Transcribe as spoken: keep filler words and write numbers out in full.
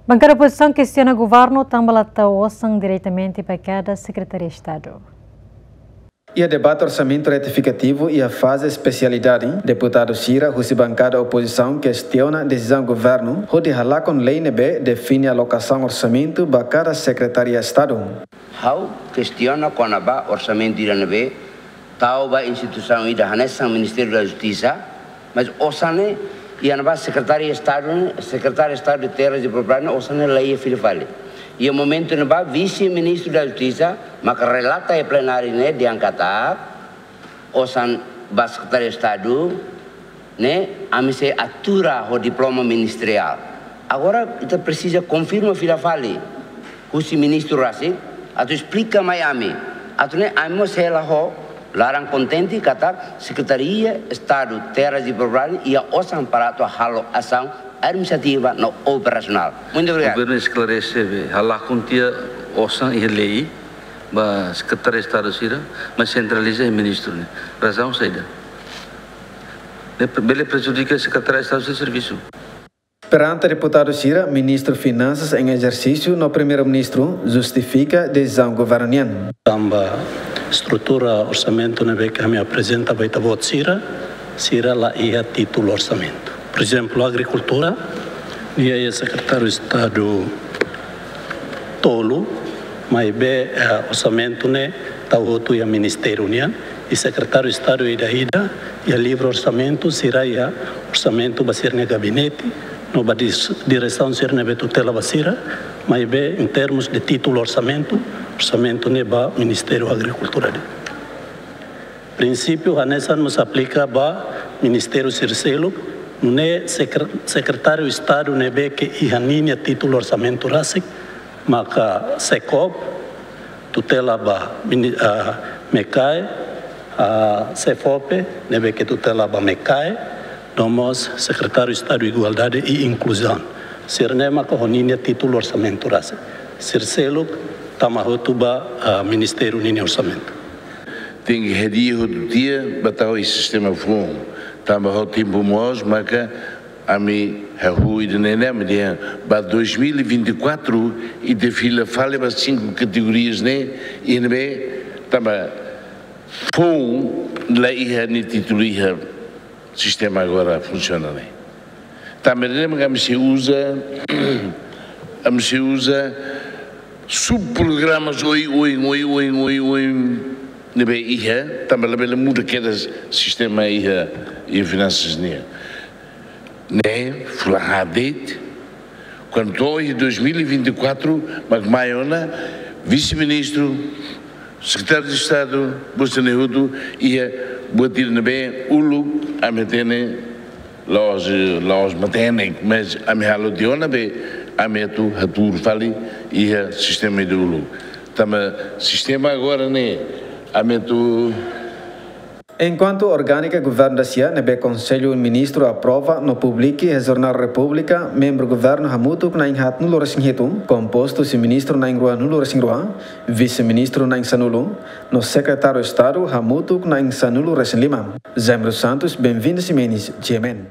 Bankada opozisaun kestiona governu tanba la tau osan diretamente ba kada Sekretaria Estadu. Iha debate orsamentu retifikativu iha faze espesialidade, deputadu sira husi bankada opozisaun kestiona desizaun governu hodi halakon lei ne'ebé define alokasaun orsamentu ba kada Sekretaria Estadu. Ha'u kestiona kona-ba orsamentu ida ne'ebé tau ba instituisaun ida hanesan Ministériu da Justisa, mas osan ne'e iha ne'ebá Sekretáriu Estadu, Sekretáriu Estadu de Terras e Propriedade, osan ne'e la iha fila fali. Iha momentu ne'ebá Vise-Ministru da Justisa maka relata iha plenáriu ne'e dehan katak osan ba Sekretáriu Estadu ne'e ami sei atura ho diploma ministeriál. Agora ita presiza konfirma fila fali husi ministru rasik atu esplika mai ami, atu nune'e ami mós hela ho laran kontente katak Sekretaria Estadu Terras e Propriedade iha osan para atu halo asaun administrativa no operasionál. Muito obrigado. Governu esklarese be, halakon tiha osan iha lei ba Sekretáriu Estadu sira, mas sentraliza iha ministru ne'e. Razaun saida? Ne'e bele prejudika Sekretáriu Estadu sira servisu. Perante deputadu sira, Ministru Finansas em ezersísiu no Primeiru-Ministru justifika desizaun governu nian. Tanba estrutura orsamentu ne'ebé ke ami aprezenta ba ita-boot sira, sira la iha títulu orsamentu. Por ezemplu, agrikultura, nia iha Sekretáriu Estadu tolu, maibé, eh, orsamentu ne'e tau hotu iha ministériu nian, i Sekretáriu Estadu ida-ida, iha livru orsamentu, sira iha orsamentu ba sira-nia gabinete, no ba dis-, diresaun sira ne'ebé tutela ba sira, maibé, em termos de títulu orsamentu, orsamentu ne'e ba Ministériu Agrikultura de'it. Prinsípiu hanesan mós aplika ba ministériu sira seluk, nune'e sekre-, Sekretáriu Estadu ne'ebé ke iha ninia títulu orsamentu rasik, maka SECOB, tutela ba mini-, ah, MECAE, ah, SEFOPE, ne'ebé ke tutela ba MECAE, no mós Sekretáriu Estadu Igualdade i Inkluzaun. Sira-ne'e maka ho ninia títulu orsamentu rasik. Sira seluk tama hotu ba, ah, ministériu ninia orsamentu. Tenke hadi'a hotu tiha ba tau iha sistema foun. Tanba ho tempu moos maka ami hahú ida-ne'e ne'e, ami dehan ba dois mil e vinte e quatro ita fila fali ba cinco categorias ne'e, i ne'ebé tanba foun la iha nia títulu iha sistema agora funsiona ne'e. Tanba ne'e mak ami sei uza, ami sei uza subprogramas oioin, oioin, oioin ne'ebé iha, tanba labele muda kedas sistema iha, iha finansas nian. Ne'e fulan haat de'it, kuandu to'o iha dois mil e vinte e quatro, mak mai ona, vise-ministru, Sekretáriu de Estadu, buat sira-ne'e hotu, iha buat ida ne'ebé uluk ami hatene la'ós, la'ós matenek, mas ami halo tiha ona be ami atu hatuur fali iha sistema ida uluk. Tanba sistema agora ne'e, ami atu Enkuantu orgánika governu dasia ne'ebé Konsellu Ministru aprova no publika iha Jornál Repúblika, membru governu hamutuk na'in haatnulu-resin-hitu, kompostu husi ministru na'in ruanulu-resin-rua, vise-ministru na'in sanulu, no sekretáriu Estadu hamutuk na'in sanulu-resin-lima. Jaime dos Santos, Benvinda Ximenes, G M N.